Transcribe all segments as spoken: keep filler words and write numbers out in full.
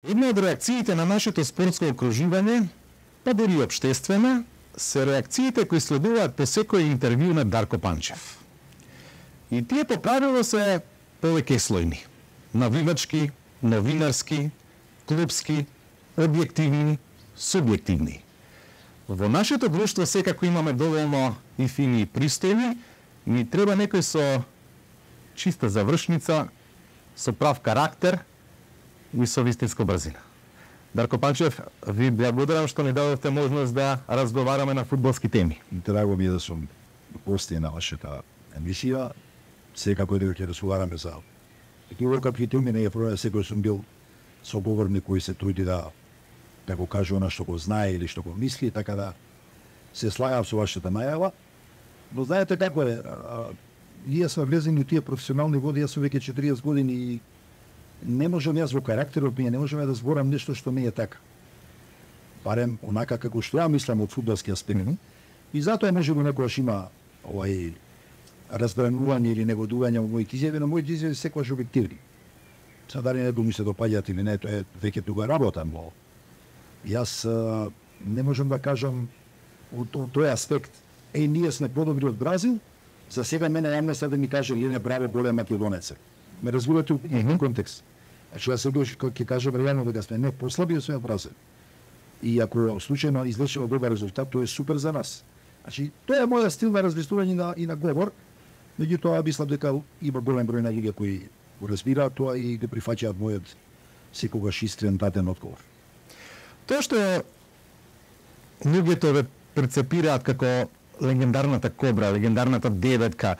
Една од реакциите на нашето спортско окружување, па дори и општествена, се реакциите кои следуваат по секој интервју на Дарко Панчев. И тие по правило се повеќеслојни. Навивачки, новинарски, клубски, објективни, субјективни. Во нашето друштво секако имаме доволно и фини и пристојни, и ни треба некој со чиста завршница, со прав карактер и со вистинска брзина. Дарко Панчев, ви благодарам што ни дадовте можност да разговараме на фудбалски теми. Драго ми е да сум гости на вашата емисија. Секако дека ќе разговараме за капки теми, не е проблем, секој сум бил соговорник кој се труди да да го каже она што го знае или што го мисли, така да се слагам со вашата најава. Но знаете како е, ние сме влезени у тие професионални води, јас сум веќе четириесет години и не можам јас во карактерот ми, не можам да зборам нешто што не е така. Барем онака како што ја мислам од фудбалски аспект. Mm -hmm. И затоа може би некогаш има овај разбранување или негодување во моите изјави, но моите изјави се секогаш објективни. Сега дали некој ми се допаѓаат или не, тоа е веќе тука работам, но јас а, не можам да кажам од тој аспект, е, ние сме подобри од Бразил, за сега мене не се да ми каже или браво голем македонец. Ме разбирате у mm -hmm. контекст. Значи, јас се доши кога ќе кажам реално дека сме не послаби сме од Бразил. И ако случајно извршува добар резултат, тоа е супер за нас. Значи, тоа е мојот стил на размислување на, и на говор, меѓутоа мислам дека има голем број на луѓе кои го разбираат тоа и го прифаќаат мојот секогаш искрен даден одговор. Тоа што луѓето ве перцепираат како легендарната кобра, легендарната деветка,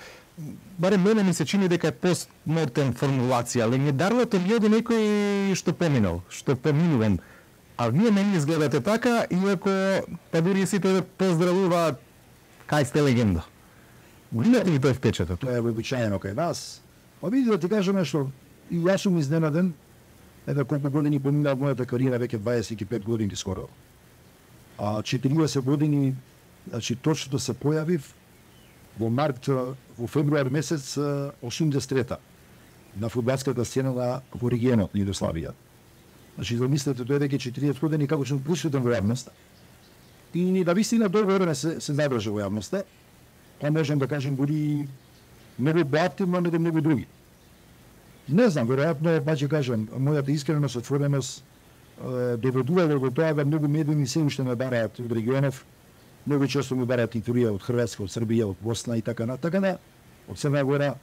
барем мене ми се чини дека е постмодерн формулација. Легендарното ми е до некој што поминал, што поминувен. А вие не ми изгледате така, иако па дури сите ве поздравуваат, кај сте легенда. Гледате ли тој впечаток? Тоа е вообичаено кај нас. Па види да ти кажам нешто, и јас сум изненаден, еда колку години поминаа мојата кариера, веќе дваесет и пет години скоро. А четириесет години, значи точно да се појавив во март, во февруар месец осумдесет и трета на фудбалската сцена на во регионот на Југославија. Значи замислете тоа веќе четириесет години како сум присутен во јавноста. И ни да вистина добро време се се надржа во јавноста. Па можем да кажем буди многу активно, но многу други. Не знам, веројатно, па ќе кажем, мојата искреност, отвореност доведува до тоа да многу медии се уште ме бараат од регионов. Многу често ми бараат интервјуа од Хрватска, од Србија, од Босна и така на така на од Црна Гора.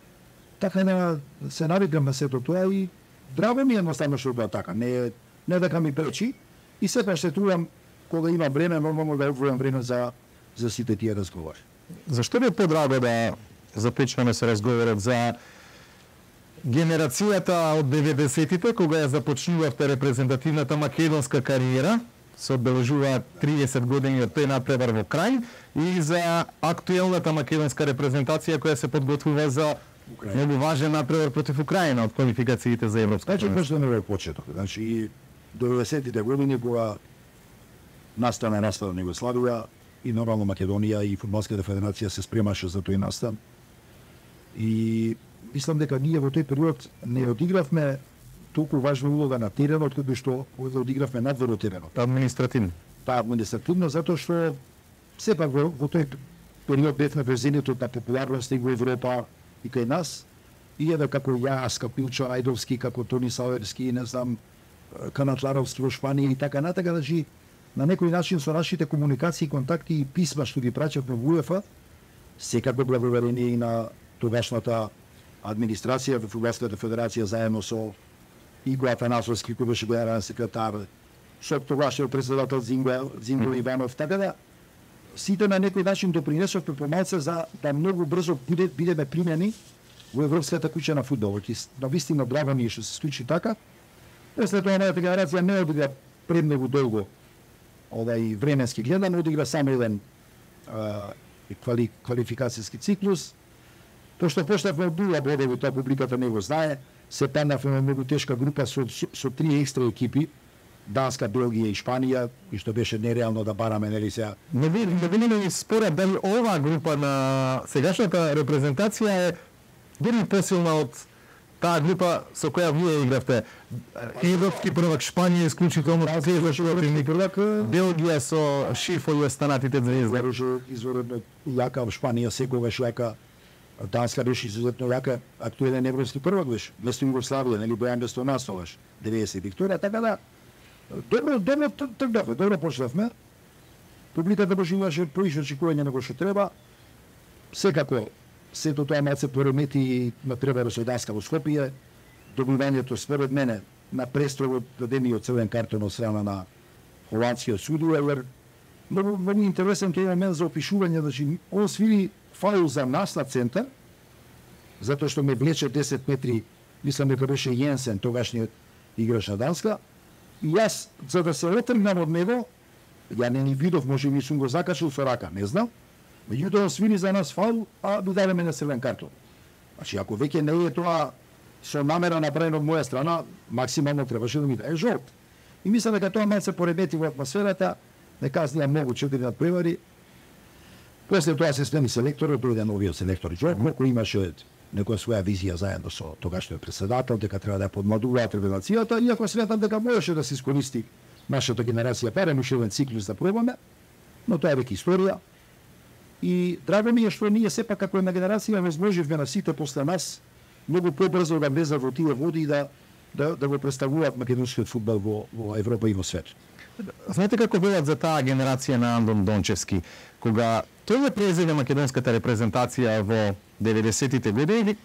Така на се навикам на сето тоа и драго ми е едноставно што тоа така. Не не дека ми пречи и сепак се трудам кога има време, нормално да одвојам време за за сите тие разговори. Зашто ви е подраго да започнеме се разговорот за генерацијата од деветдесетите, кога ја започнувавте репрезентативната македонска кариера, се одбележуваат триесет години од тој напредар во крај, и за актуелната македонска репрезентација која се подготвува за многу важен напредар против Украина од квалификациите за европско првенство. Значи, пошто не е почеток. Значи, до деветдесетите години кога настана настан на Југославија и нормално Македонија и фудбалската федерација се спремаше за тој настан. И мислам дека ние во тој период не одигравме толку важна улога на теренот, кога што одигравме надвор од теренот. Административно. Па административно, затоа што сепак во, во тој период бевме во зенитот на популярност и во Европа и кај нас. И еве како јас, како Пилчо Ајдовски, како Тони Саверски, не знам, Канатларовски во Шпанија и така натака, значи на некој начин со нашите комуникации, контакти и писма што ги праќавме во УЕФА, секако благодарение и на тогашната администрација во Фудбалската федерација заедно со Иго Атанасовски, кој беше главен секретар, со тогашниот председател Зинго, Зинго mm. Иванов, така да сите на некој начин допринесовме помалце за да многу брзо биде, бидеме примени во Европската куќа на фудбалот. И на вистина драго ми е што се случи така. След тоа мојата генерација не одигра премногу долго овај временски гледан, одигра само еден квали, квалификацијски циклус. Тоа што поштавме од нула бодови, тоа публиката не го знае, се паднавме многу тешка група со, со три екстра екипи, Данска, Белгија и Шпанија, и што беше нереално да бараме, нели сега. Не ви не ви не според дали оваа група на сегашната репрезентација е дори посилна од таа група со која вие игравте, европски првак Шпанија исклучително тежок првак, Белгија со Шифо и останатите звезди. Беше изворедно јака во Шпанија, секогаш јака. Данска беше изуzetно јака, актуелен европски првак беше. Место Југославија, нели Бојан Бестонасоваш, деветдесет Викторија, така да добро, добро тргнавме, добро почнавме. Публиката поживаше проише очекување на што треба. Секако сето тоа малце поремети на превара со Данска во Скопје, добивањето според мене на престрогот дадениот црвен картон од страна на холандскиот судувер. Многу многу интересен тој момент за опишување, значи он свири фаул за нас на центар, затоа што ме влече десет метри, мислам дека беше Јенсен, тогашниот играч на Данска, и јас, за да се отргнам од него, ја не ни видов, може би сум го закачил со рака, не знам, меѓутоа свири за нас фаул, а додаваме на црвен картон. Значи, ако веќе не е тоа со намера направено од моја страна, максимално требаше да ми даде жолт. И мислам дека тоа малце поремети во атмосферата, не казнија многу четири надпревари. После тоа се смени селекторот, дојде новиот селектор Џорџ, кој имаше некоја своја визија заедно со тогашниот председател, дека треба да подмладуваат ревелацијата, иако сметам дека можеше да се искористи нашата генерација барем уште еден циклус да пробаме, но тоа е веќе историја. И драго ми е што ние сепак како една генерација возможивме на сите после нас многу побрзо да влезат во тие води и да да, да го представуваат македонскиот фудбал во, во Европа и во свет. Знаете како велат за таа генерација на Андон Дончевски, кога тој ја презеде македонската репрезентација во деветдесетите години,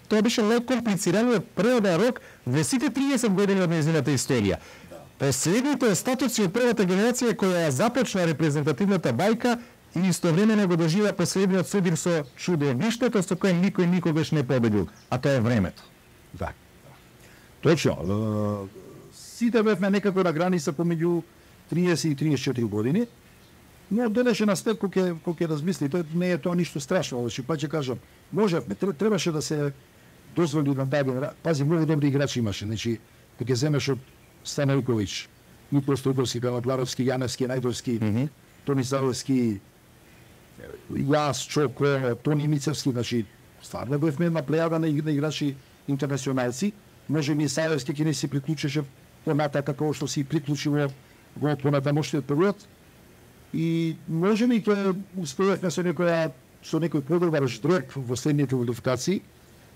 тоа беше лек комплицирано преводен рок во сите триесет години од нејзината историја. Последното е статуси од првата генерација која ја започна репрезентативната бајка и истовремено го доживеа последниот судир со чудовиштето со кое никој никогаш не победил, а тоа е времето. Да. Точно. Сите бевме некако на граница помеѓу триесет и триесет и четири години, но денешен аспект кој ќе кој ќе размисли, тоа не е тоа ништо страшно, значи па ќе кажам, можевме, требаше да се дозволи на таа генерација. Пази, многу добри играчи имаше, значи кога ќе земеш од Станајковиќ, Никола Стојковски, Галадларовски, Јаневски, Најдовски, mm -hmm. Тони Савовски, јас, Чоко, Тони Мицевски, значи стварно бевме една плејада на играчи интернационалци. Може би Сајовски ќе не се приклучеше поната како што си приклучило во понатамошниот период. И може би тоа успеавме со некоја со некој подобар ждрек во следните квалификации,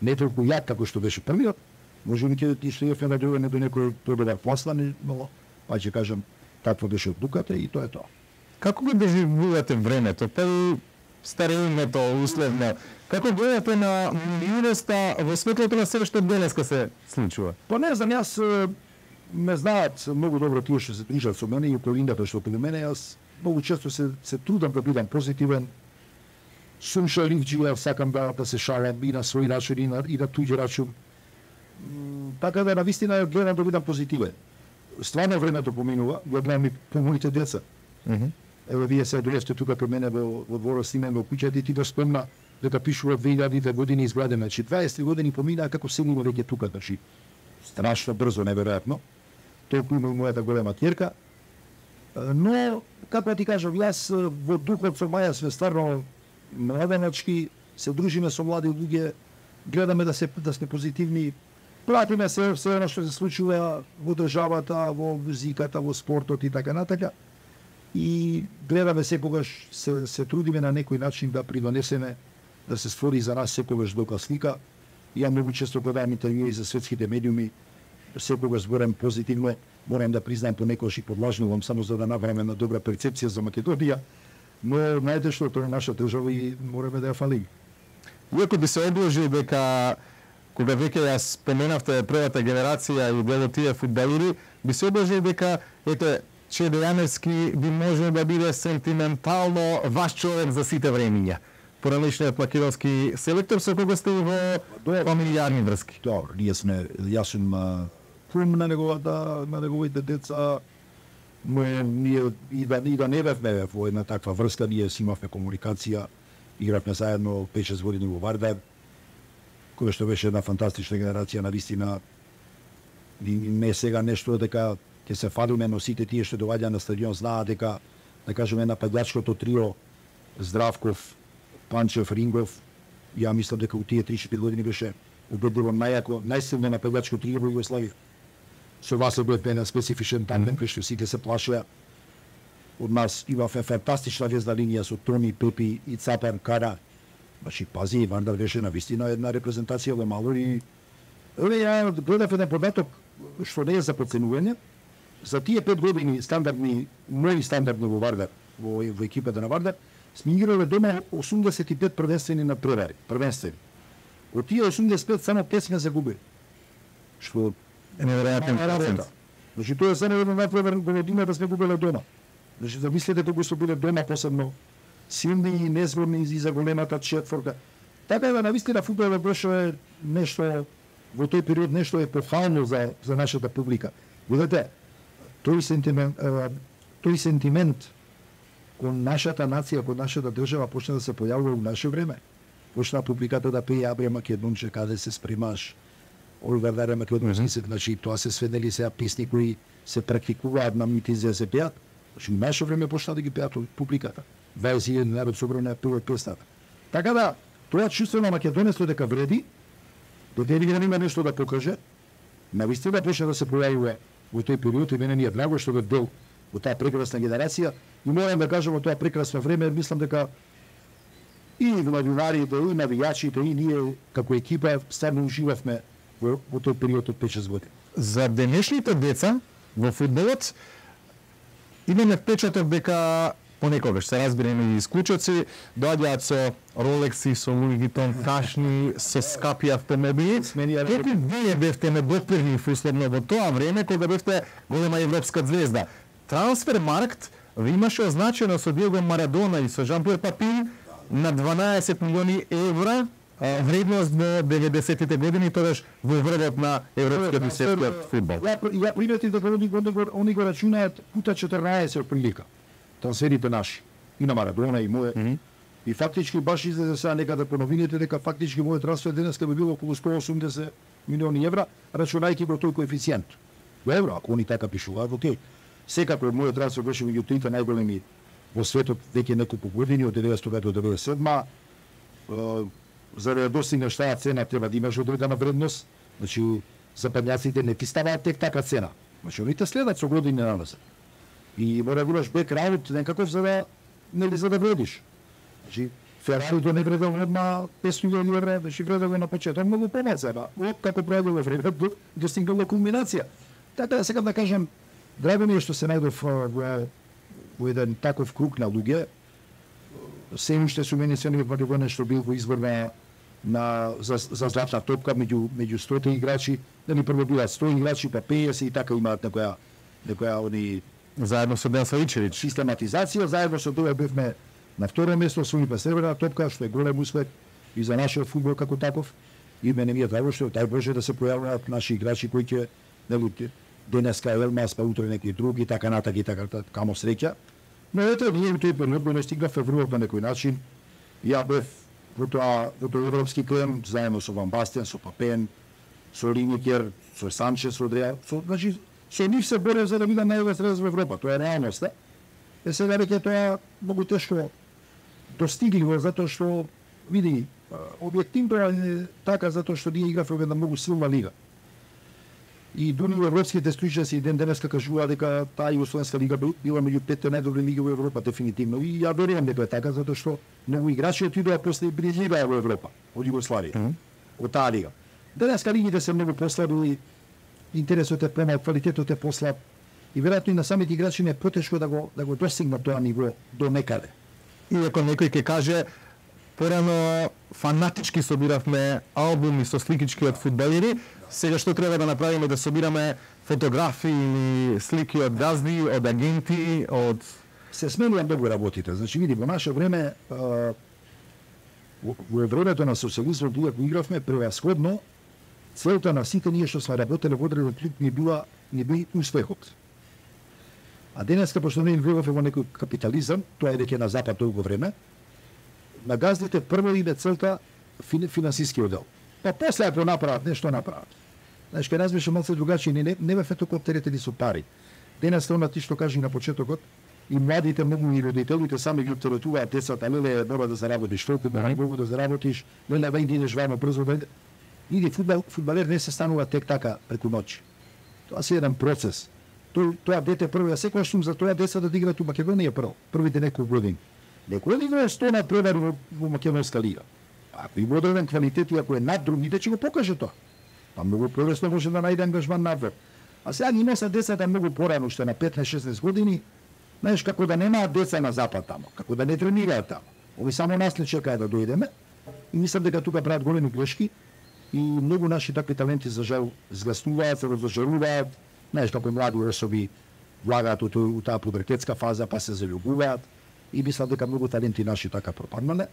не толку јак како што беше првиот. Може би ќе стигнеме на дојдење до некој подобар послан, но па ќе кажам таква беше одлуката и тоа е тоа. Како го доживувате времето? Па старењето, условно. Како гледате на юноста во светлото на себе што денеска се случува? Па не знам, јас ме знаат многу добро тие што се движат со мене и околината што околу мене, јас многу често се се трудам да бидам позитивен. Сум шаливџија, сакам да, да се шалам и на свој начин и на, и на туѓи раčun. Така да навистина гледам да бидам позитивен. Стварно времето поминува, го гледам и по моите деца. Mm -hmm. Ево вие се дојдете тука при мене во во дворот с име во куќата и ти да спомна дека пишува две илјадите години изградена, значи дваесет години поминаа како селиме веќе тука, значи страшно брзо, неверојатно. Толку има мојата голема ќерка. Но како ти кажам, јас во духот со маја сме стварно младеначки, се дружиме со млади луѓе, гледаме да се да сме позитивни, пратиме се се она што се случува во државата, во музиката, во спортот и така натака. И гледаме секогаш се, се трудиме на некој начин да придонесеме да се створи за нас секогаш добра слика. Ја многу често гледам интервјуи за светските медиуми, секогаш зборам позитивно, морам да признаем понекогаш и подлажнувам само за да направиме на добра перцепција за Македонија, но знаете што тоа е наша држава и мораме да ја фалиме. Иако би се одложил дека кога веќе ја споменавте првата генерација и гледо тие фудбалери, би се одложил дека ете Чеде Јаневски би може да биде сентиментално ваш човек за сите времиња. Поранешниот македонски селектор со кого сте во фамилијарни врски. Добро, ние сме, јас сум кум на неговата, на неговите деца, но ние и да, и да не бевме во една таква врска, ние си имавме комуникација, игравме заедно пет-шест години во Вардар, која што беше една фантастична генерација, навистина, и не сега нешто дека ќе се фалиме, но сите тие што доаѓа на стадион знаат дека, да кажеме, на пеглачкото трио Здравков, Панчев, Рингов, ја мислам дека у тие три-четири години беше убедливо најако, најсилно нападачко трио во Југославија. Со Васло Бојпен на специфичен тандем, кој што сите се плашеа. Од нас имавме фантастична везна линија со Тони, Пепи и Цапан Кара. Баши пази, Вандар беше на вистина една репрезентација во мало и еве ја гледав еден податок што не е за проценување. За тие пет години стандардни, нови стандардни во Вардар, во, во екипата на Вардар, сме играле дома осумдесет и пет првенствени на првари, првенствени. Од тие осумдесет и пет само пет сме загубили. Што е неверојатен процент. Значи тоа е само едно најпрвен година да сме губеле дома. Значи замислете кога што биле дома посебно силни и незворни за големата четворка. Така е, навистина фудбалот беше нешто во тој период нешто епохално за за нашата публика. Видете, тој сентимент, тој сентимент кон нашата нација, кон нашата држава почна да се појавува во наше време. Почна публиката да пее Абре Македонче, каде се спремаш, Оливер Даре Македонски, значи тоа се сведели сега песни кои се практикуваат на митинзи да се пеат. Значи, наше време почна да ги пеат публиката. Верзија на Народ собрана пева песната. Така да, тоа чувствено македонецот дека вреди, додели да има нешто да покаже, навистина почна да се појавува во тој период и мене ни е драго што бе дел во таа прекрасна генерација и морам да кажам во тоа прекрасно време, мислам дека и младинарите, и навијачите, и ние како екипа ставно уживавме во, во тој период од пет-шест години. За денешните деца во фудбалот имаме впечаток дека понекогаш се разбираме и исклучоци доаѓаат со Ролекси, со Луи Витон кашни, со скапи автомобили. Какви вие бевте недопирни условно во тоа време кога бевте голема европска звезда? Трансфермаркт ви имаше означено со Диего Марадона и со Жан-Пиер Папин на дванаесет милиони евра вредност во деветдесетите години, тогаш во врвот на европскиот и светскиот фудбал. Ја приметив дека они го они го рачунаат пута четрнаесет прилика. Трансферите наши и на Марадона и моје. Mm -hmm. И фактички баш излезе сега некаде по новините дека фактички мојот трансфер денеска би било околу сто и осумдесет милиони евра, рачунајќи го тој коефициент. Во евро, ако они така пишуваат, окей. Секако мојот трансфер беше меѓу трите најголеми во светот веќе неколку години од деветстотини до деветдесет и седма. За да достигнеш таа цена треба да имаш одредена вредност. Значи западњаците не ти ставаат тек така цена. Значи они те следат со години наназад. И мора да имаш бекграунд некаков за да нели за да вредиш. Значи Ферари не вредел една петстотини милиони евра, беше вредел на почеток многу помалку, ба. Како правило време достигнала кулминација. Така да сега да кажем, драго ми е што се најдов во, во еден таков круг на луѓе. Се уште су мене се не во нешто бил во изборна на за, за златна топка меѓу меѓу сто играчи, дали прво билат сто играчи, па пеесет и така имаат некоја некоја они заедно со Ден Савичевиќ систематизација, заедно со тоа бевме на второ место, освои па северна топка, што е голем успех и за нашиот фудбал како таков. И мене ми е драго што тај може да се појавуваат наши играчи кои ќе нели денеска е Елмас, па утре некои други, така натака и така, камо среќа. Но ето, ние тој период не стигнавме врвот на некој начин. Ја бев во тоа, во тој европски клем, заедно со Ван Бастен, со Папен, со Линекер, со Санчес, со Дреа, со, значи, со нив се борев за да бидам највес средец во Европа. Тоа е реалност, не? Е сега веќе тоа многу тешко достигливо, затоа што, види, објективно е така, затоа што ние игравме во една многу силна лига. И дури европските stručnjaci ден денеска кажуваат дека таа југословенска лига била меѓу петте најдобри лиги во Европа дефинитивно. И ја верувам дека е така затоа што многу играчи отидоа после и брижираа во Европа од Југославија, mm -hmm. од таа лига. Денеска лигите се многу послабили, интересот е помал, квалитетот е послаб и веројатно и на самите играчи не е потешко да го да го достигнат тоа ниво до некаде. Иако некој ќе каже порано фанатички собиравме албуми со сликички од фудбалери, сега што треба да направиме да собираме фотографии или слики од газди, од агенти, од се сменува многу работите. Значи види во наше време а, во, во времето на социализмот кога игравме превасходно целта на сите ние што сме работеле во одреден клуб не била не би успехот. А денеска пошто не живееме во некој капитализам, тоа е дека на запад долго време, на газдите прво иде целта фин, финансиски одел. Па после ако направат нешто направат. Знаеш, кај нас беше малце другачи, не, не, не бе фето коптерите со пари. Денес тоа ти што кажи на почетокот, и младите многу и родителите сами ги оптеретуваат децата, леле, треба да заработиш, толку да не могу да заработиш, леле, вај идеш вајма брзо, да Иди фудбал, фудбалер не се станува тек така преку ноќ. Тоа се еден процес. Тој тоа дете прво, ја секогаш сум за тоа деца да играат у Македонија прво, првите неколку години. Некој да играе сто на превер во, во македонска лига. Ако има одреден квалитет и ако е над другите, ќе го покаже тоа. Па многу полесно може да најде ангажман надвор. А сега ги носат децата многу порано, што на петнаесет-шеснаесет години, знаеш како да немаат деца на запад тамо, како да не тренираат тамо. Ови само нас не чекаат да дојдеме и мислам дека тука прават големи грешки и многу наши такви таленти за жал згласнуваат, се разожаруваат, знаеш како млади особи влагаат у таа пубертетска фаза, па се заљубуваат и мислам дека многу таленти наши така пропаднале.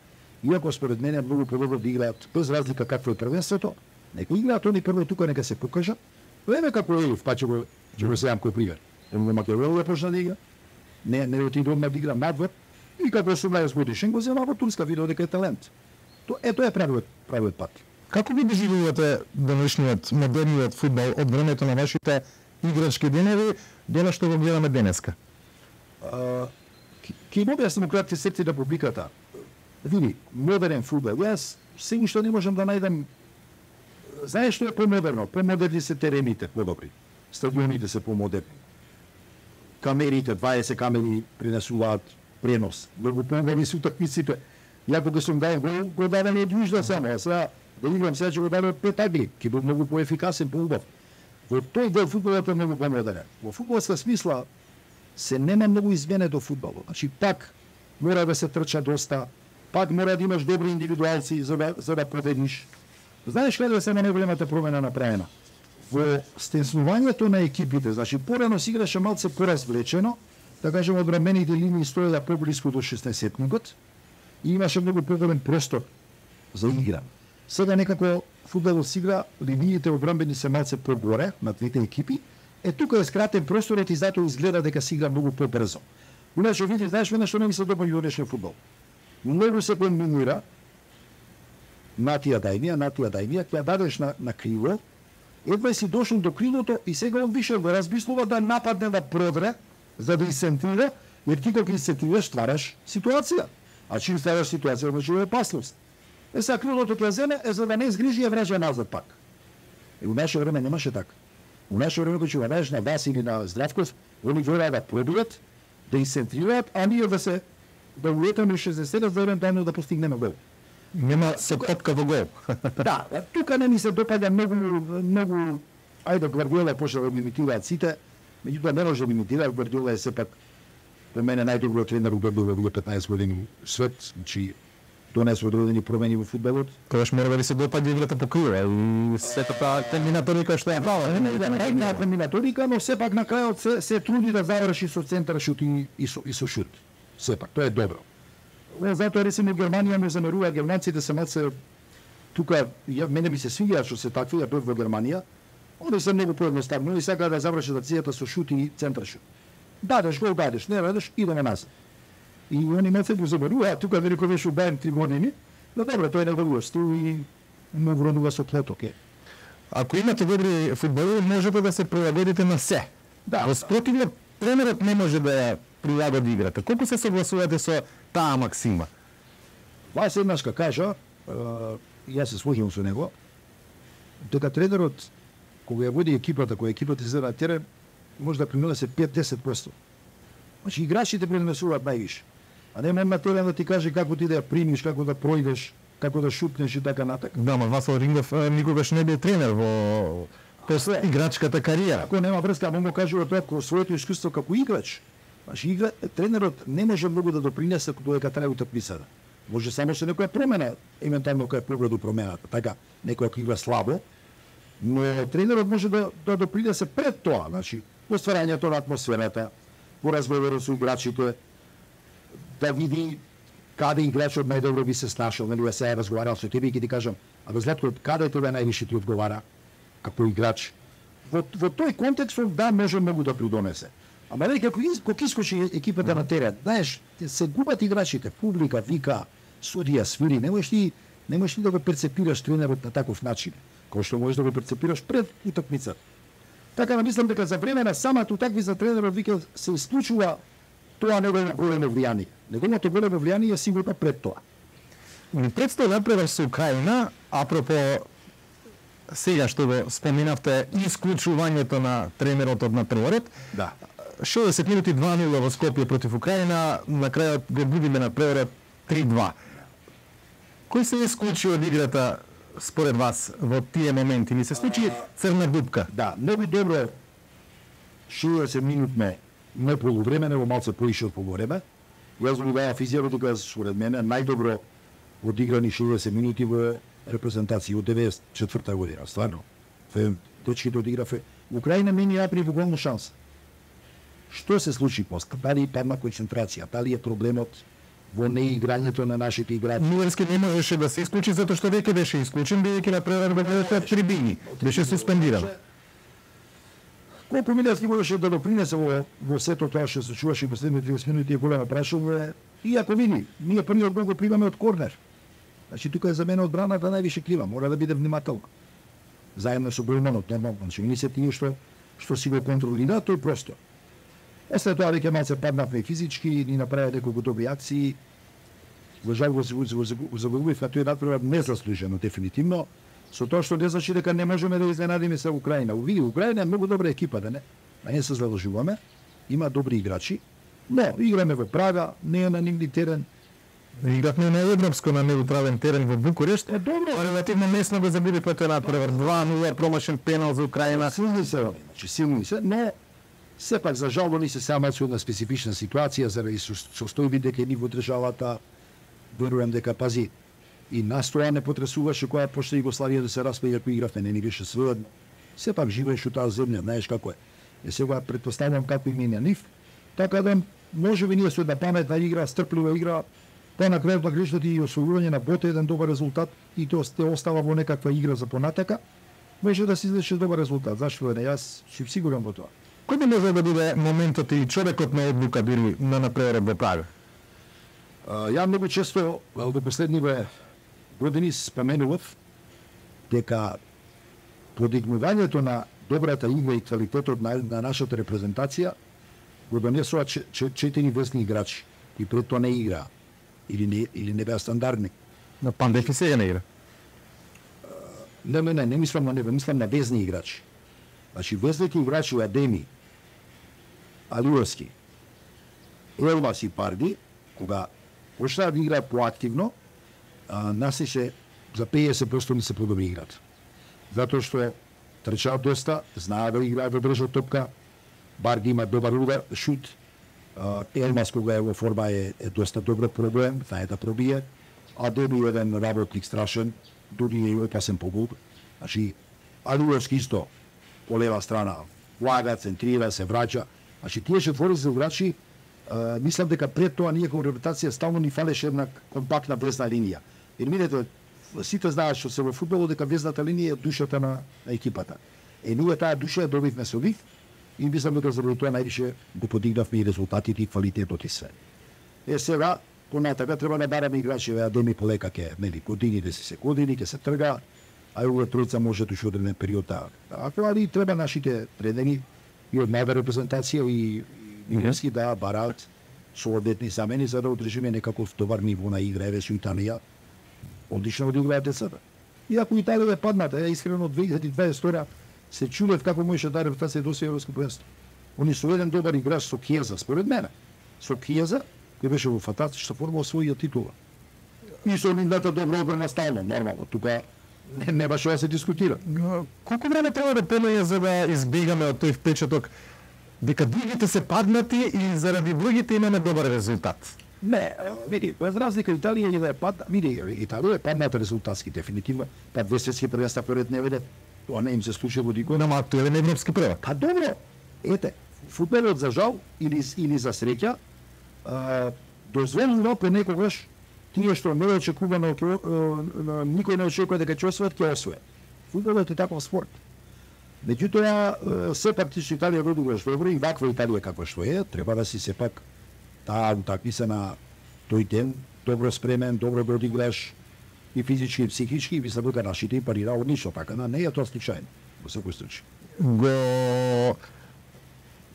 Иако според мене многу подобро да играат без разлика какво е првенството, нека играат они прво тука, нека се покажат. Еве како е Елиф, па ќе го ќе го земам кој пример. Во Македонија почна да игра, не не отидов на да игра надвор и како сум најас годишен го зема во Турска, видов дека е талент. То ето е правиот правиот пат. Како ви доживувате денешниот модерниот фудбал од времето на вашите играчки денови до на што го гледаме денеска? Ки му објаснам кратки сети да публиката. Види, модерен фудбал. Јас се што не можам да најдам. Знаеш што е помодерно? Помодерни се терените, подобри. Стадионите се помодерни. Камерите, дваесет камери пренесуваат пренос. Многу помодерни се утакмиците. Ја кога сум дај гол, го дадам од јужда само, а сега да играм сега ќе го дадам пет агли, ќе биде многу поефикасен, поубав. Во тој дел фудбалот е многу помодерен. Во фудбалска смисла се нема многу измене до фудбалот. Значи пак мора да се трча доста, пак мора да имаш добри индивидуалци за да, за да победиш. Знаеш каде се најголемата промена направена? Во стеснувањето на екипите, значи порано се играше малце поразвлечено, да кажем од рамените линии стоело поблиску до шеснаесетникот и имаше многу поголем простор за игра. Сега некако фудбалот се игра, линиите одбранбени се малце погоре на двете екипи, е тука е скратен просторот и затоа изгледа дека се игра многу побрзо. Иначе види, знаеш мене што не ми се допаѓа денешниот фудбал. Многу се комбинира натија дајмија, натија дајмија, ќе дадеш на, на криво, едва си дошол до крилото и сега он више го размислува да нападне да продре, за да изцентрира, jer ти кога изцентрираш, ствараш ситуација. А чим ствараш ситуација, може да е опасност. Е сега крилото ќе земе, е за да не изгрижи ја врежа назад пак. И у наше време немаше така. У наше време кога ќе врежа на Вас или на Здравков, они гледаат да продуват, да изцентрираат, а ние да се да улетаме шесдесет за еден да постигнеме гол. Нема се топка во гол. Да, тука не ми се допаѓа многу, многу, ајде Гвардиола почна да имитираат сите, меѓутоа не може да имитира, Гвардиола е сепак, за мене најдобриот тренер у во петнаесет години свет, значи донесе одредени промени во фудбалот. Тогаш мора да ви се допаѓа играта по криве, и сето па терминаторика што е права. Не, терминаторика, но сепак на крајот се, се труди да заврши со центар шут и, и, со, и со шут. Сепак, тоа е добро. Затоа речеме Германија ме замерува, германците се малце тука, ја, мене би се свиѓа што се такви, ја бев во Германија, онде се многу поедноставно и сега да заврши акцијата со шут и центар шут. Дадеш гол, дадеш, не дадеш, идеме назад. И они ме се го замерува, тука велико беше убаен три години, но добро, тој не врвуваш, и ме вронува со плеток. Ако имате добри фудбали, можете да се прилагодите на се. Да. Во спротивно, тренерот не може да ја прилагоди играта. Колку се согласувате со таа максима? Вас еднашка кажа, јас се слоѓам со него, дека тренерот, кога ја води екипата, кога екипата се на терен, може да принесе пет до десет проценти. Значи, играчите пренесуваат највише. А не на терен да ти каже како ти да ја примиш, како да пројдеш, како да шутнеш и така натака. Да, ма Васил Рингов никогаш не бе тренер во после играчката кариера. Ако нема врска, му кажува тоа како своето искуство како играч. Значи, игра, тренерот не може многу да допринесе додека трае утакмицата. Може само со некоја промена, евентуално која погледу промената, така, некој ако игра слабо, но тренерот може да, да допринесе пред тоа, значи, по стварањето на атмосферата, по разговорот со играчите, да види каде играчот најдобро би се снашал, нели се е разговарал со тебе и ќе ти кажам, а до Златко, каде тебе највише ти одговара како играч? Во, во тој контекст да може многу да придонесе. Ама веќе како кога искочи екипата на терен, знаеш, се губат играчите, публика вика, судија свири, не можеш ти не можеш ти да го перцепираш тренерот на таков начин, кој што можеш да го перцепираш пред утакмицата. Така да мислам дека за време на самата утакмица тренерот вика се исклучува тоа негово големо влијание. Неговото големо влијание е сигурно пред тоа. Ми представа напредок со Украина, апропо сега што го споменавте исклучувањето на тренерот од напред. Да. шестдесет минути два нула во Скопје против Украина, на крајот го губиме на преврат три два. Кој се исклучи од играта според вас во тие моменти? Ни се случи црна дупка? Да, многу добро шестдесет минутме не полувреме, него малце поише од полувреме. Јас го беа физијарот дека според мене најдобро одиграни шестдесет минути во репрезентација од деветдесет и четврта година, стварно. Дечките одиграве. Украина мени направи голна шанса. Што се случи после? Дали падна концентрација? Дали е проблемот во неиграњето на нашите играчи? Милерски не можеше да се исклучи затоа што веќе беше исклучен, бидејќи на прервата трибини. Беше суспендиран. Колку Милерски можеше да допринесе во, во сето тоа што се чуваше во последните триесет минути е голема прашува. И ако види, ние првиот гол го примаме од корнер. Значи тука е за мене одбраната највише крива, мора да биде внимателна. Заедно со Бројманот, нормално, значи не се тие што што си го контролира, тој просто. Е след тоа веќе малце паднавме физички, ни направи неколку добри акции. Во жал го загубив, а тој направи незаслужено дефинитивно, со тоа што не значи дека не можеме да изненадиме се Украина. Види, Украина е многу добра екипа, да не? А не се заложуваме, има добри играчи, но играме во Прага, не е на нигде терен. Игравме на европско на неутрален терен во Букурешт. Е добро, релативно месно го забили петот надпревар два нула, промашен пенал за Украина. Силни се, значи силни се, но сепак за жал ни се сама со една специфична ситуација заради состојби дека ни во државата верувам дека пази и настоја не потресуваше кога почна Југославија да се распаѓа ако игравме, не ни беше сведно. Сепак живееш у таа земја, знаеш како е. Е сега претпоставувам како и мене нив, така да можеби ние со една паметна игра, стрплива игра, па на крајот на грешот и освојување на боте еден добар резултат и тоа сте остава во некаква игра за понатака, може да се извлече добар резултат. Зашто не, јас сум сигурен во тоа. Кој би може да биде моментот и човекот на одлука дури на напревар во Прага? Ја многу често во последниве години споменував дека подигнувањето на добрата игра и квалитетот на, на нашата репрезентација го донесува четири весни играчи и пред тоа не игра или не или не беа стандардни. На Пандеф и сега не игра. Не, не, не, не мислам на него, мислам на везни играчи. Значи везните играчи у Адеми, Алиевски, Елмас и Парди, кога почнаа да играат поактивно, нас се за петдесет проценти не се подобри играт. Затоа што трчаат доста, знаат да играат во брза топка, Барди има добар удар, шут, Елмас кога е во форма е, е доста добар проблем, знае да пробие, а Деми е еден работник страшен, дури е опасен по гол. Значи, Алиевски исто, по лева страна, влага, центрира, се враќа. Значи, тие четворица играчи, мислам дека пред тоа ние како репутација стално ни фалеше една компактна везна линија. Jer видете, сите знаат што се во фудбалот дека везната линија е душата на, на екипата. Е, ние таа душа ја добивме со нив и мислам дека заради тоа највише го подигнавме и резултатите и квалитетот и све. Е, сега, понатака треба да бараме играчи, а Деми полека ке, нели, годините се се години, ке се трга, а и тројца може да уште одреден период да. Ако али треба нашите тренери и од најда репрезентација и Милерски да бараат соодветни замени за да одржиме некаков добар ниво на игра, еве со Италија. Одлично да играат децата. И ако Италија е падната, ја искрено две илјади и дваесет се чудев како можеше да репрезентација до европско првенство. Они со еден добар играч со Киеза, според мене. Со Киеза, кој беше во фантастична форма, освоија титула. И со нивната добро одбрана стално, нормално. Тука не, не баш да се дискутира. Колку време треба да пенеја за да избегаме од тој впечаток дека другите се паднати и заради другите имаме добар резултат? Не, види, без разлика Италија не да е падна, види, Италија е падната резултатски дефинитивно, па две светски првенства пред не веде, тоа не им се случи во никој. Нема актуелен европски првак. Па добро, ете, фудбалот за жал или или за среќа, дозволено пред некогаш тие што не очекувано, никој не очекува дека ќе освојат, ќе освојат. Фудбалот е таков спорт. Меѓутоа, сепак ти што Италија го одиграш добро и ваква Италија каква што е, треба да си сепак таа утакмица тој ден, добро спремен, добро го одиграш и физички и психички, и мислам дека нашите им парира одлично, така да не е тоа случајно, во секој случај. Го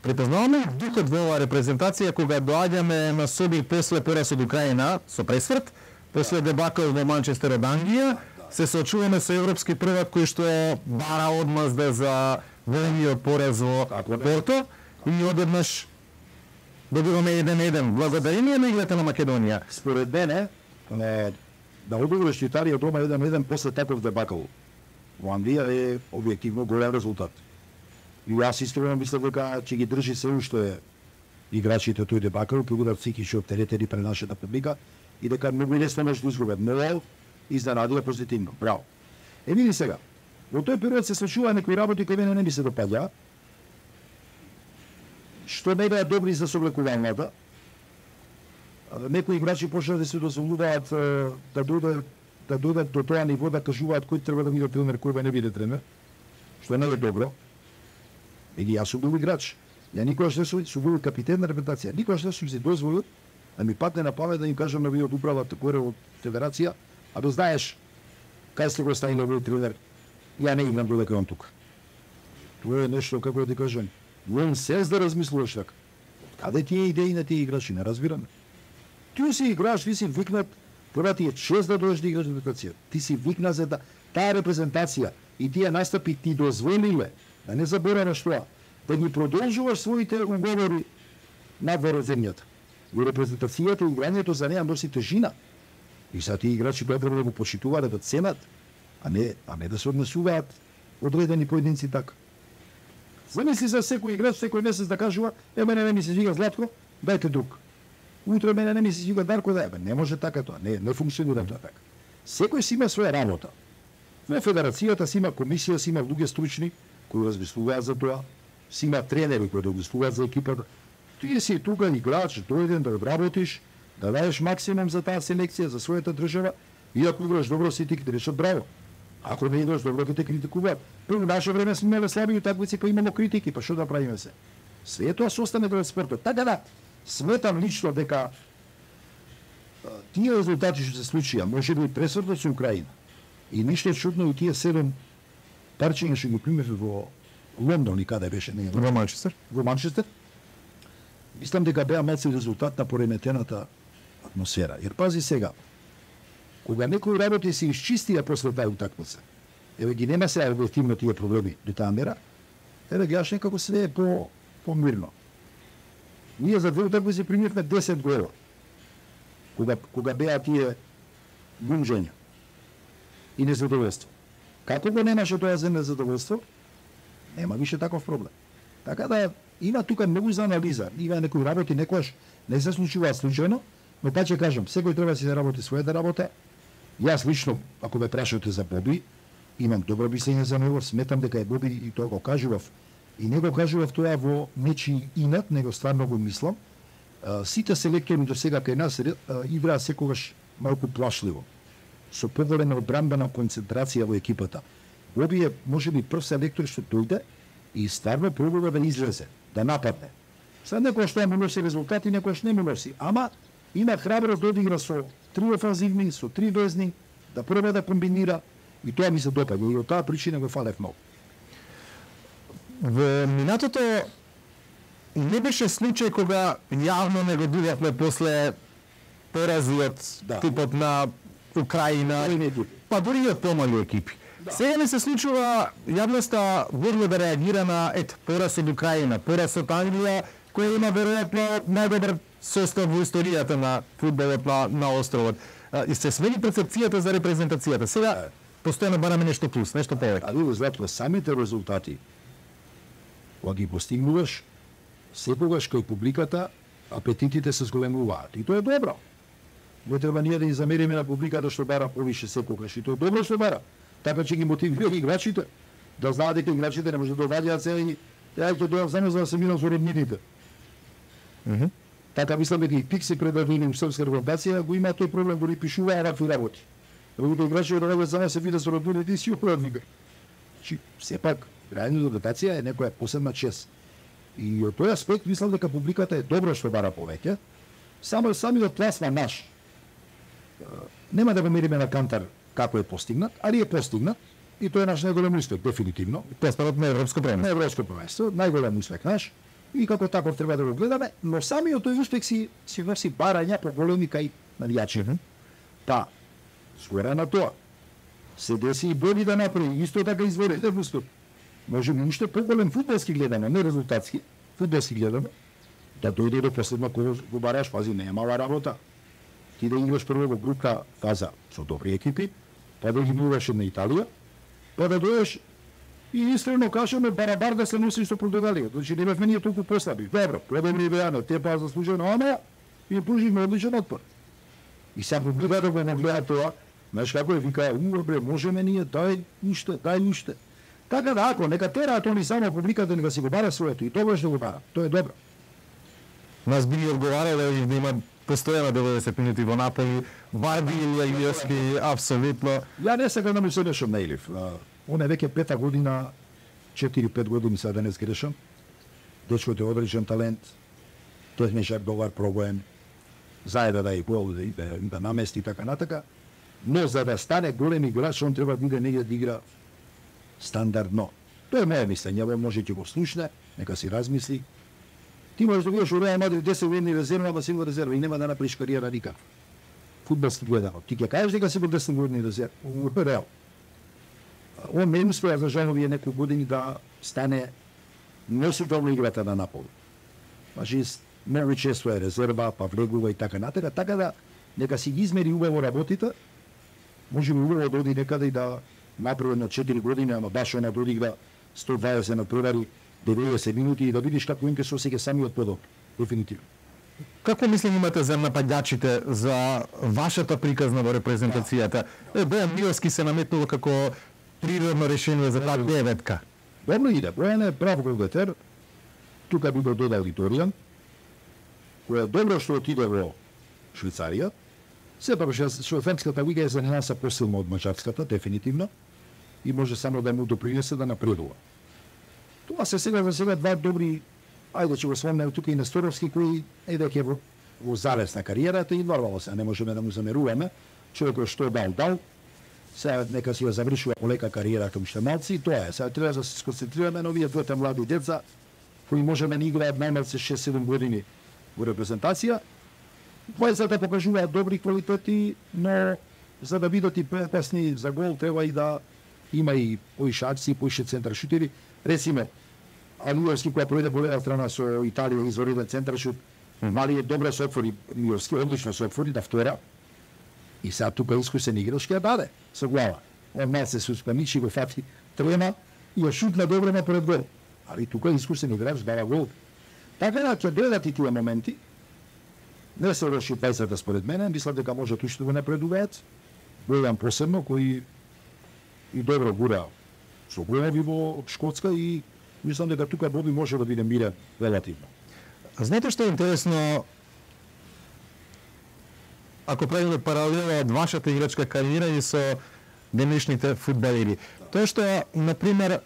препознаваме духот во оваа репрезентација кога доаѓаме на соби после пораз од Украина со пресврт, после дебакл во Манчестер од Англија, се соочуваме со европски првак кој што е бара одмазда за големиот порез во Порто и одеднаш добиваме еден-еден благодарение на играта на Македонија. Според мене, не, да одобриш Италија дома еден-еден после таков дебакл во Англија е објективно голем резултат. И јас искрено мислам дека ќе ги држи се уште е играчите тој дебакл, ќе бидат психички оптеретени пред нашата публика и дека многу лесно може да изгубат. Но изненадува позитивно. Браво. Е, види сега, во тој период се случува некои работи кои мене не ми се допаѓа, што не беа добри за соблекувањата. Некои играчи почнаа да се дозволуваат да додат да додат до тоа ниво да кажуваат кој треба да биде тренер, кој не биде тренер, што не е добро. Еги јас сум бил играч. Ја никогаш не сум бил капитен на репрезентација. Никогаш не сум се дозволил да ми падне на памет да им кажам на вие од управата горе од федерација, а да знаеш кај сте го ставил овој тренер. Ја не играм додека он тука. Тоа е нешто како да ти кажам. Вон се да размислуваш така. Каде тие идеи на тие играчи, не разбираме. Ти си играш, ти си викнат, прва ти е чест да дојдеш да играш репрезентација. Ти си викнат за да таа репрезентација и тие настапи ти дозволиле, да не забораваш тоа, да ги продолжуваш своите уговори надвор од земјата. И репрезентацијата и играњето за неа носи тежина. И са тие играчи треба да го почитуваат, да ценат, а не, а не да се однесуваат одредени поединци така. Замисли за секој играч, секој месец да кажува, е, мене не ми се свига Златко, дајте друг. Утре мене не ми се свига Дарко, да, е, не може така тоа, не, не функционира тоа така. Секој си има своја работа. На федерацијата си има комисија, си има луѓе стручни кои размислуваат за тоа, си има тренери кои размислуваат за екипата. Ти си тука играч, дојден да работиш, да дадеш максимум за таа селекција, за својата држава, и ако играш добро си ти ќе решат браво. Ако не играш добро ќе те критикуваат. Прво наше време сме имале слаби утакмици па имало критики, па што да правиме се? Све тоа се остане до спортот. Така да, сметам лично дека тие резултати што се случија, може би пресвртот со Украина. И ништо е чудно и тие седем парчиња што ги примеве во Лондон и каде беше, не во Манчестер. Во Манчестер. Мислам дека беа малку резултат на пореметената атмосфера. Jer пази сега, кога некои работи се исчистија после таа утакмица, еве ги нема сега објективно тие проблеми до таа мера, еве ги јаш некако све е по помирно. Ние за две утакмици примивме десет гола. Кога кога беа тие гунжења и незадоволство. Како го немаше тоа за незадоволство, нема више таков проблем. Така да има тука многу за анализа. Има некои работи некојаш не се случуваат случајно, но па ќе кажам, секој треба да си да работи својата работа. Јас лично, ако ме прашате за Боби, имам добро мислење за него, сметам дека е Боби и тоа го кажував. И не го кажував тоа во нечи инат, него стварно го мислам. Сите селектори до сега кај нас играа секогаш малку плашливо, со поголема одбранбена концентрација во екипата. Боби е можеби прв селектор што дојде и стварно пробува да излезе, да нападне. Сега некој што му носи резултати, некој што не му носи, ама има храброст да одигра со три офанзивни, со три дојзни, да проба да комбинира и тоа ми се допаѓа и од таа причина го фалев многу. Во минатото не беше случај кога јавно не го видевме после поразот да. типот на Украина, па дури и од помали екипи. Да. Сега не се случува јавноста бурно да реагира на ет пораз од Украина, пораз од Англија, кој има веројатно најдобар состав во историјата на фудбалот на, на островот. И се смени перцепцијата за репрезентацијата. Сега постојано бараме нешто плюс, нешто повеќе. А ви знаете, самите резултати кога ги постигнуваш, секогаш кај публиката апетитите се зголемуваат. И тоа е добро. Не треба ние да ни замериме на публиката што бара повише секогаш. И тоа е добро што бара. Така ќе ги мотивира играчите да знаат дека играчите не може да доваѓаат се и ја ќе дојдам само за да се минам со роднините. Mm -hmm. Така мислам дека и Пикси предадени во српска репрезентација го има тој проблем дори пишуваа вакви работи. Другите играчи да работат за се видат со роднините и си управника. Чи сепак реално репрезентација е некоја посебна чест. И од тој аспект мислам дека публиката е добро што бара повеќе. Само самиот пласма наш нема да го мериме на кантар како е постигнат, али е постигнат и тоа е наш најголем успех дефинитивно. Преспадот на европско премиер. На европско првенство, најголем успех наш и како таков треба да го гледаме, но самиот тој успех си си врси барања по големи кај навијачи. Mm -hmm. Па, скоро на тоа. се деси и Боди да направи, исто така изворите вустот. Може би уште поголем фудбалски гледаме, не резултатски, фудбалски гледаме, да дојде до последно кој го бараш, пази, не е мала работа. Ти да играш прво во група фаза со добри екипи, па да ги играш на Италија, па да дојдеш и искрено кажеме барабар да се носиш со Португалија. Значи не бевме ние толку послаби. Добро, подобри беано, те па заслужено, ама и пруживме одличен отпор. И сега гледа да го нагледа тоа, знаеш како е, вика, уа бре, можеме ние, дај уште, дај уште. Така да, ако нека тераат они само публиката, нека си го бара своето и тоа ще го бара, тоа е добро. Нас би ни одговарале да има постојано деветдесет минути во Наполи, Варди или Илиевски, апсолутно. Ја не сега да ми се решам на Илив. Он е веќе пета година, четири-пет години сега да не сгрешам. Дечкото е одречен талент, тој не шак добар пробоен, заеда да и гол, да, да, да намести така натака. Но за да стане голем играч, он треба да иде негде да игра стандардно. Тоа е моје мислење, може ќе го слушне, нека си размисли. Ти можеш да видиш у Реал Мадрид десет години резерва, ама си во резерва и нема да направиш кариера никак. Фудбалски гледано. Ти ќе кажеш дека си во десет години резерва, у Реал. Он не успеа за жал овие некои години да стане носител на играта на Наполи. Значи, мери често е резерва, па влегува и така натака, така да нека си ги измери убаво работите, може би убаво да оди некаде и да направи на четири години, ама баш она да одигра сто дваесет на првари, деветдесет минути и да видиш како им ке се осеќа самиот подоб. Дефинитивно. Како мислење имате за нападачите, за вашата приказна во репрезентацијата? Е, Бојан Миловски се наметнува како природно решение за таа деветка. Добро иде, Бојан е прав голгетер, тука би го додал Виторијан, која е добро што отиде во Швейцарија, сепак што френската лига е за нас посилна од мачарската, дефинитивно, и може само да му допринесе да напредува. Тоа се сега за сега два добри, ајде ќе го спомнем тука и Несторовски, кои е дека во, во залез на кариерата и нормално се, не можеме да му замеруваме, човекот што дал дал, сега нека си ја завршува полека кариера кај уште малци и тоа е. Сега треба да се сконцентрираме на овие двете млади деца, кои можеме да играат најмалце шест-седум години во репрезентација. Двајцата да покажуваат добри квалитети, но за да бидат и песни за гол треба и да има и поише акции, поише центар шутери. Ресиме, Алиевски која пројде по лева страна со Италија извориден центар шут, мали е добре со отвори, Миловски одлично со отвори да втора. И сега тука искусен играч ќе даде со глава. Он не се суспемичи, го фати трема и ја шутна добре на пред гол. Али тука искусен играч дава гол. Така да ќе дојдат и тие моменти. Не се реши двајцата според мене, мислам дека може уште да го напредуваат. Бојан посебно кој и добро гура со големи во Шкотска и мислам дека тука Боби може да биде мирен релативно. Знаете што е интересно? Ако правиме паралела од вашата играчка кариера и со денешните фудбалери, тоа што, например,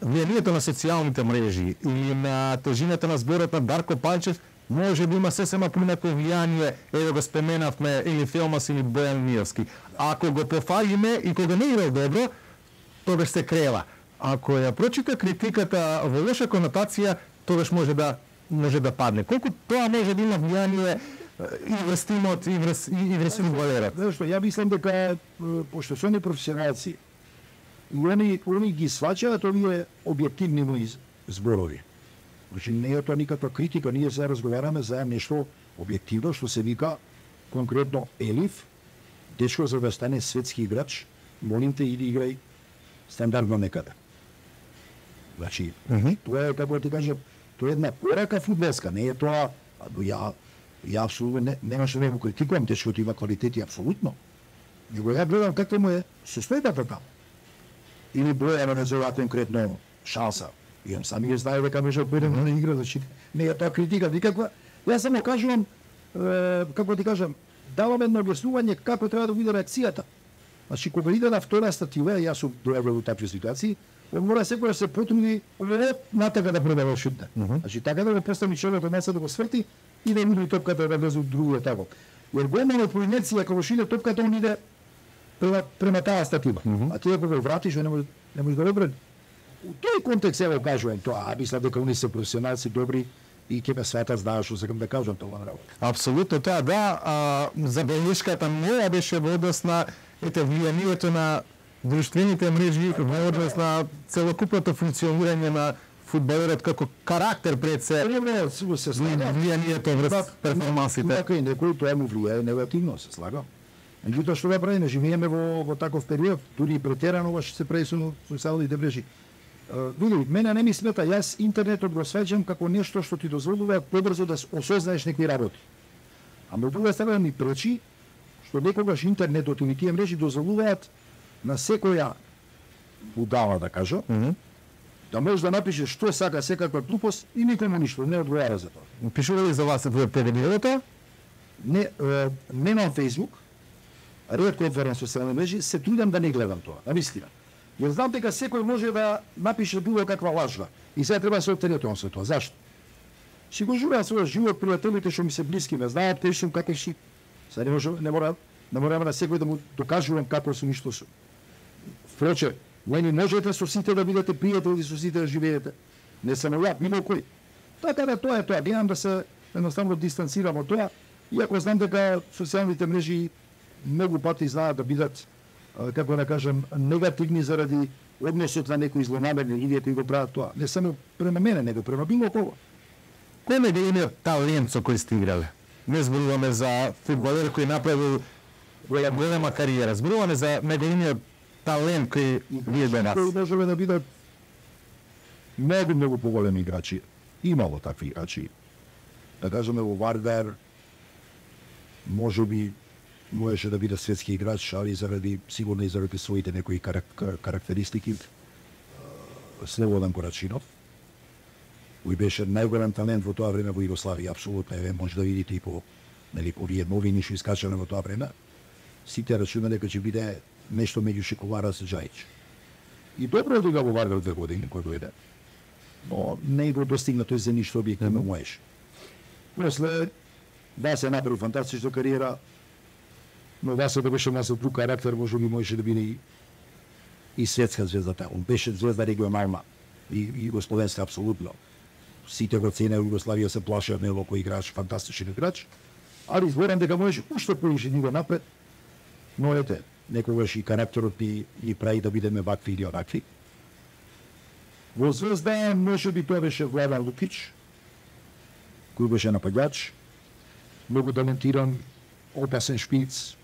влијанието на социјалните мрежи или на тежината на зборот на Дарко Панчев може да има сесема понеко влијание, е да го споменавме или Филмас или Бојан Миловски. Ако го пофалиме и кога не играл добро, тогаш се крела. Ако ја прочита критиката во лоша конотација, тогаш може да може да падне. Колку тоа може да има влијание и врз тимот, и врз и врз фудбалерот? Зашто ја мислам дека пошто се они професионалци, они они ги сваќаат овие објективни зборови. Значи не е тоа никаква критика, ние сега разговараме за нешто објективно што се вика конкретно Елиф, дечко за да стане светски играч, молим те иди играј стандардно некаде. Значи, mm -hmm. тоа е, како ти кажам, тоа е една порака фудбалска, не е тоа, ја, ја апсолутно не, немаше да го критикувам, дечкото има квалитети, апсолутно. Него ја гледам како му е состојбата таму. Или Бојан резерва конкретно шанса. И он сами ја знае дека може да биде на игра, значи не е тоа критика никаква. Јас само кажувам, е, како ти кажам, давам едно објаснување како треба да биде реакцијата. Значи кога иде на втора статива, јас сум дојавил во такви ситуации, он мора секој да се потруди натака да предава шутне. Mm -hmm. Значи така да ме представи човекот место да го сврти и да иде топката да влезе во друго тако. Jer го имаме проинерција кога шиде топката, он иде према, према таа статива. Mm -hmm. А ти кога вратиш, не може не може да врати. У тој контекст ево кажувам тоа, а мислам дека они се професионалци добри и ќе ме светат, знаеш што сакам да кажам тоа на работа. Апсолутно тоа, да, а, забелешката моја беше во однос на ете влијанието на друштвените мрежи во однос на целокупното функционирање на фудбалерот како карактер пред се. Не, сигурно се слага. Влијанието врз перформансите. Така и некој тоа му влијае негативно, се слага. Меѓутоа што да правиме, живееме во во таков период, дури и претерано ова што се прави со социјалните мрежи. Види, мене не ми смета, јас интернетот го свеќам како нешто што ти дозволува побрзо да осознаеш некои работи. Ама од друга страна ми пречи што некогаш интернетот и тие мрежи дозволуваат на секоја будала, да кажам, mm -hmm. да можеш да напишеш што сака секаква глупост и никому ништо не одговара за тоа. Пишува ли за вас во педагогијата? Не, е, немам Facebook, ретко верен социјални мрежи, се трудам да не гледам тоа, навистина. Јер знам дека секој може да напише било каква лажва и сега треба да се оттеретувам со тоа. Зашто? Си го живеам својот живот, пријателите што ми се блиски ме знаат, те сум какви си. Сега не може, не мора, не морам на секој да му докажувам како сум и што сум. Впрочем, не можете со сите да бидете пријатели, со сите да живеете. Не само ја, било кој. Така да тоа е тоа, гледам да се едноставно дистанцирам од тоа, иако знам дека социјалните мрежи многу пати знаат да бидат, како да кажем, негативни заради односот на некои злонамерни луѓе кои го прават тоа. Не само према мене, него према било кого. Кој е големиот талент со кој сте играле? Не зборуваме за фудбалер кој направил голема кариера, зборуваме за најголемиот талент кој вие бе нас. Кој можеме да бидат многу, многу поголеми играчи. Имало такви играчи. Да кажеме во Вардар, може би можеше да биде светски играч, али заради, сигурно и заради своите некои карак, карактеристики, Слободан Корачинов, кој беше најголем талент во тоа време во Југославија, апсолутно, еве може да видите и по, нели, овие новини што искачале во тоа време, сите рачунале дека ќе биде нешто меѓу Шиколара со Джајич. И добро да го Вардар две години кој дојде, но не го достигна тој за ништо објективно можеш. После, да се направи фантастична кариера, но да се да беше нас друг карактер, може би можеше да биде и, и светска звезда таа. Он беше звезда регионална и, и југословенска апсолутно. Сите го цене Југославија, се плашат него кој играч, фантастичен играч, али зборам дека можеше уште поише ниво напред, но ете, некогаш и карактерот ни, ни прави да бидеме вакви или онакви. Во Звезда може би тоа беше Владан Лукич, кој беше напаѓач, многу талентиран, опасен шпиц,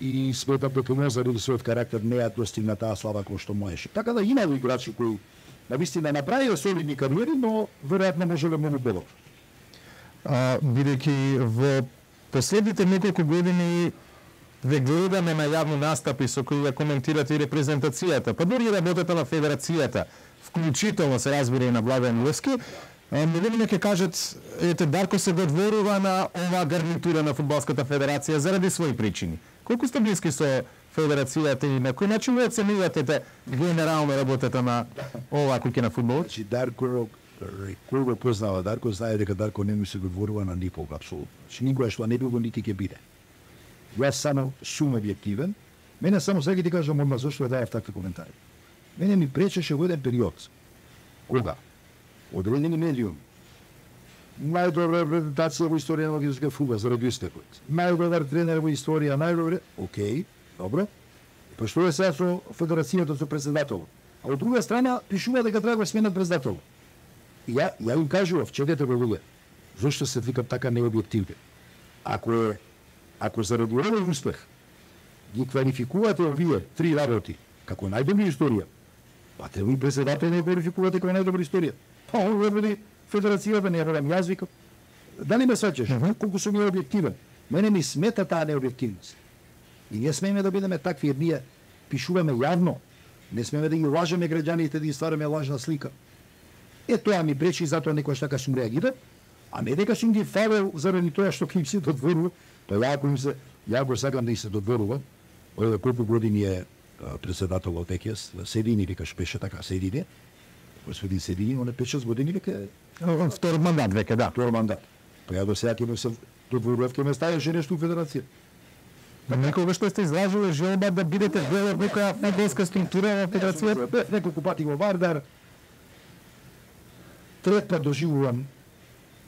и сметам дека не заради својот карактер не ја достигна таа слава кој што можеше. Така да има играчи кои навистина направија солидни кариери, но веројатно можеле многу подобро. А, бидејќи во последните неколку години ве гледаме на јавни настапи со кои ја коментирате и репрезентацијата, па дури и работата на федерацијата, вклучително се разбира и на Владен Левски, многу ќе кажат, ете, Дарко се додворува на оваа гарнитура на Фудбалската федерација заради своји причини. Колку сте блиски со федерацијата и на кој начин ви оценувате генерално работата на оваа куќа на фудбалот? Значи, Дарко, кој го познава Дарко, знае дека Дарко не ми се додворува на никога, апсолутно. Значи, никогаш тоа не било, нити ќе биде. Јас само сум објективен. Мене само сега ти кажам одма зашто ја дајав такви коментари. Мене ми пречеше во еден период. Кога? Одредени медиум. Најдобра презентација во историја на македонскиот фудбал заради истекот. Најдобар тренер во историја, најдобар. Океј, добро. Па што е сега со федерацијата со председател? А од друга страна пишува дека треба да сменат председател. И ја ја им кажував, четете го луѓе. Зошто се викам така необјективни? Ако е ако заради овој успех ги квалификувате овие три работи како најдобри историја, па треба и председател не квалификувате како најдобри историја. Па овој федерацијата не верам, јас викам. Дали ме сваќаш? Uh -huh. Колку сум необјективен? Мене ми смета таа необјективност. И не смееме да бидеме такви, jer ние пишуваме јавно. Не смееме да ги лажеме граѓаните, да ги ствараме лажна слика. Е, тоа ми пречи и затоа некојаш така сум реагирал, а не дека сум ги фавел заради тоа што им се додворува. Па ја ако им се, ја го сакам да им се додворува, од колку години е председател од ЕКЕС, Седини, викаш беше така, Седини, господин Седини, он е пет шест години веќе втор мандат веќе, да. Втор мандат. Па ја до сега ќе ме се додворував, ќе ме ставеше нешто у федерација. Некога што сте излажале желба да бидете дел од некоја фудбалска структура во федерацијата? Неколку пати во Вардар. Трет пат доживувам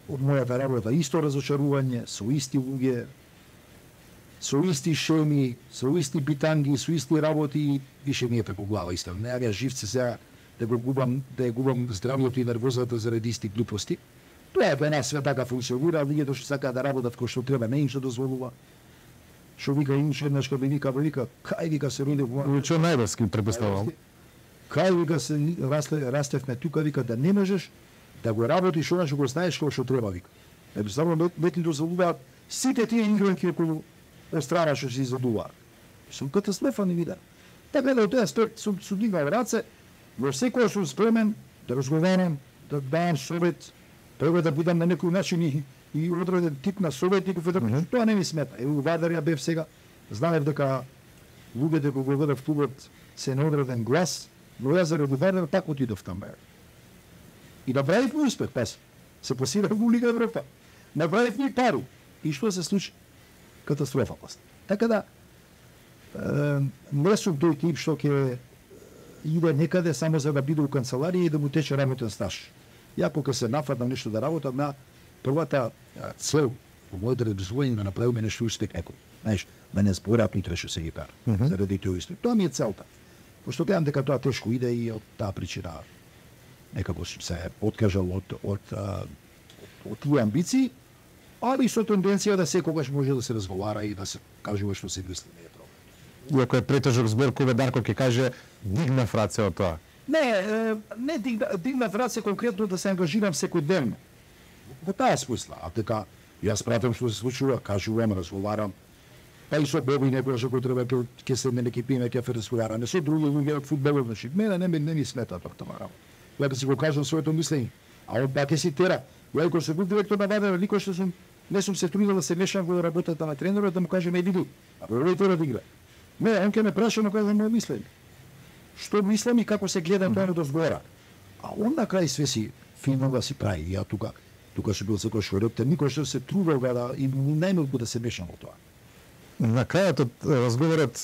од мојата работа исто разочарување, со исти луѓе. со исти шеми, со исти битанги, со исти работи, више ми е преку глава исто. Не ја живце сега да го губам, да ја губам здравјето и нервозата заради исти глупости. Тоа е една свет така функционира, луѓето што сакаат да работат кој што треба, не им што дозволува. Што вика имаше еднаш кога вика, вика, кај вика се роди во... Што најбрски предпоставувам. Кај вика се расте, растевме тука, вика да не можеш да го работиш она што го знаеш кој што треба, вика. Едноставно не ти дозволуваат сите тие игранки кои од страна што се изодуваат. Сум катастрофа не вида. Така да тоа сум сум сум дигнал раце, во секој сум спремен да разговарам, да давам совет, треба да будам на некој начин и, и одреден тип на советник, mm -hmm. Тоа не ми смета. Е, у Вадар ја бев сега, знаев дека луѓето кога го водев клубот се на одреден глас, но ја заради Вадар така отидов таму. И направив успех, пес. Се посирав во Лига Европа. Направив ни пару. И што се случи? Катастрофа после. Така да, е, не сум тој тип што ќе иде некаде само за да биде у канцеларија и да му тече работен стаж. Ја кога се нафатам нешто да работам на првата цел во моето развојање да направиме нешто успех некој. Знаеш, да не зборат ни треше се ги пар. Mm -hmm. Заради тој успех. Тоа ми е целта. Пошто гледам дека тоа тешко иде и од таа причина некако се откажал од од од тие амбиции, али со тенденција да секогаш може да се разговара и да се кажува што се мисли, не е проблем. Иако е претежок збор кој Дарко ќе каже дигнав раце од тоа. Не, не дигнав раце конкретно да се ангажирам секојдневно. Во таа смисла, а дека јас пратам што се случува, кажувам, разговарам. Па и со Бог и некоја што кој треба ќе се мене ќе пиме ќе разговара. Не со други луѓе од фудбалот, значи мене не ми не ми смета тоа тамара. Лека си го кажам своето мислење. А он пак ќе си тера. Ја кога се бил директор на Вадар, никош што сум не сум се трудил да се мешам во работата на тренерот да му кажем е види. А проверите да игра. Не, он ќе ме праша на која моја мислење. Што мислам и како се гледам тоа до збора. А он на крај све си фино да си прави. Ја тука тука што бил секој шојрот, никош што се трудел да и најмалку да се мешам во тоа. На крајот од разговорот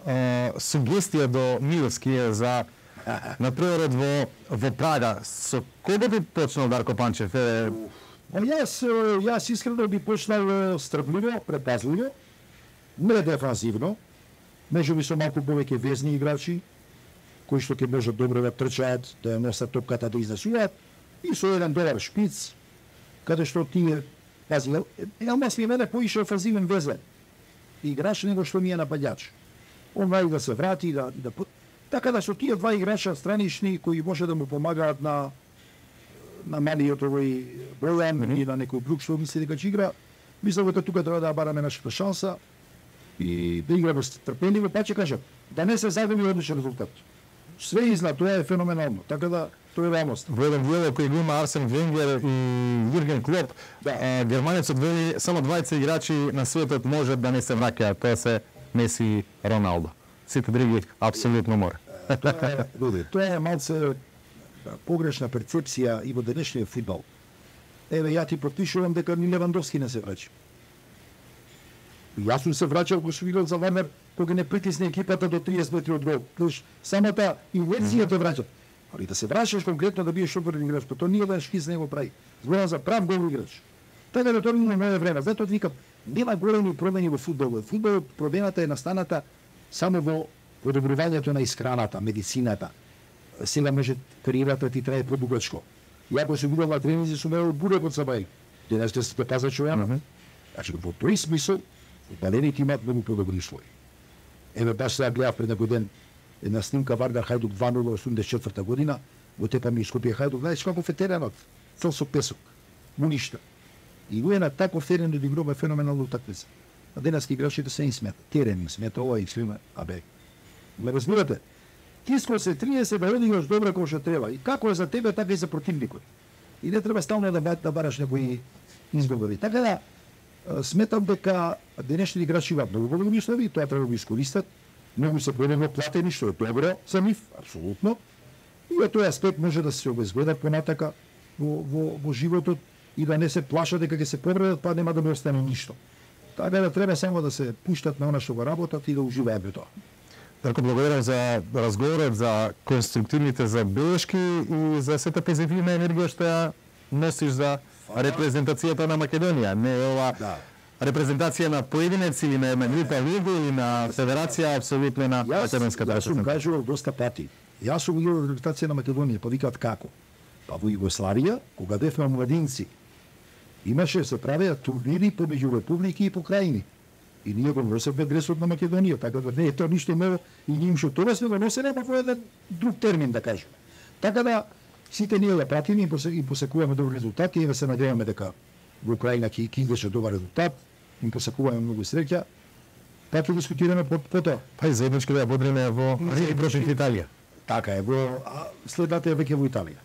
е, сугестија до Миловски е за например во во Прага. Со кого би почнал Дарко Панчев? Е... Јас јас искрено би почнал стрпливо, предпазливо, не дефанзивно. Меѓу би со малку повеќе везни играчи кои што ќе можат добро да трчаат, да носат топката да изнесуваат и со еден добар шпиц каде што тие пази, Елмас ми мене поише офанзивен везен играч него што ми е нападјач. Он вај да се врати, да, да... Така да со тие два играча странични кои може да му помагаат на на малиот овој проблем mm -hmm. и на некој друг што мисли дека ќе игра, мислам дека тука треба да бараме нашата шанса и да играме трпеливо, па ќе кажам, да не се загуби одличен резултат. Све изна, тоа е феноменално, така да тоа е реалност. Во еден дел кој го има Арсен Венгер и Јурген Клоп, да. е, германецот вели само двајца играчи на светот може да не се враќаат, тоа се Меси и Роналдо. Сите други апсолутно мора. Тоа е, тоа е малце погрешна перцепција и во денешниот фудбал. Еве ја ти потпишувам дека ни Левандовски не се враќа. Јас сум се враќал кога сум играл за Варнер, кога не притисне екипата до триесет метри од гол. Тош самата инерција те враќа. Али да се враќаш конкретно да биеш оперен играч, тоа ние да шкиз не го прави. Зборам за прав гол играч. Така да тоа не е време. Затоа викам, нема големи промени во фудбалот. Фудбалот промената е настаната само во подобрувањето на исхраната, медицината. Сега може кариерата ти трае подугачко. Ја кога сум играл на тренинзи сум имал бурек од сабај. Денес те се паза човек. Значи во тој смисол балените имаат многу подобри услови. Еве баш сега гледав пред некој ден една снимка Вардар Хајдук два нула осумдесет и четврта година, во Тепа ми Скопје Хајдук, знаеш како е теренот, цел со песок, му ништа. И го е на таков терен да игрува феноменално утакмица. А денески играчите се им смета, терен им смета, ова и свиме, абе. Ме разбирате? Ти сконцентрираш се да играш добро како што треба. И како е за тебе, така и за противникот. И не треба стално да да бараш некои изговори. Така да сметам дека денешни играчи имаат многу големи услови, тоа треба да го искористат. Многу се поедено платени, што е добро за нив, апсолутно. И во тој аспект може да се обезбедат понатака во, во, во животот и да не се плашат дека ќе се повредат, па нема да му остане ништо. Така да треба само да се пуштат на она што го работат и да уживаат во тоа. Дарко, благодарам за разговорот, за конструктивните забелешки и за сета позитивна енергија што ја носиш за репрезентацијата на Македонија. Не е ова да. репрезентација на поединец или на една група лига или на федерација апсолутно на македонската јас сум кажувал доста пати. Јас сум играл репрезентација на Македонија, па викаат како? Па во Југославија, кога бевме младинци, имаше се правеа турнири помеѓу републики и покрајни. И ние го носевме дресот на Македонија, така да не е тоа ништо ме и ние што тоа сме го носене па во еден друг термин да кажеме. Така да сите ние да пратиме и посекуваме добри резултати и да се надеваме дека во Украина ќе ќе идеше добар резултат, им посекуваме многу среќа. Па ќе дискутираме по тоа. Па и заеднички да ја бодриме во Рим против Италија. Така е, во следната е веќе во Италија.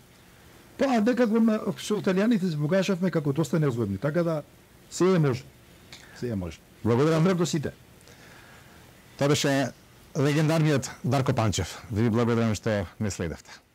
Па дека го со италијаните се покажавме како доста неозгодни, така да се е може. Се е може. Благодарам до сите. Тоа беше легендарниот Дарко Панчев. Ви благодарам што ме следевте.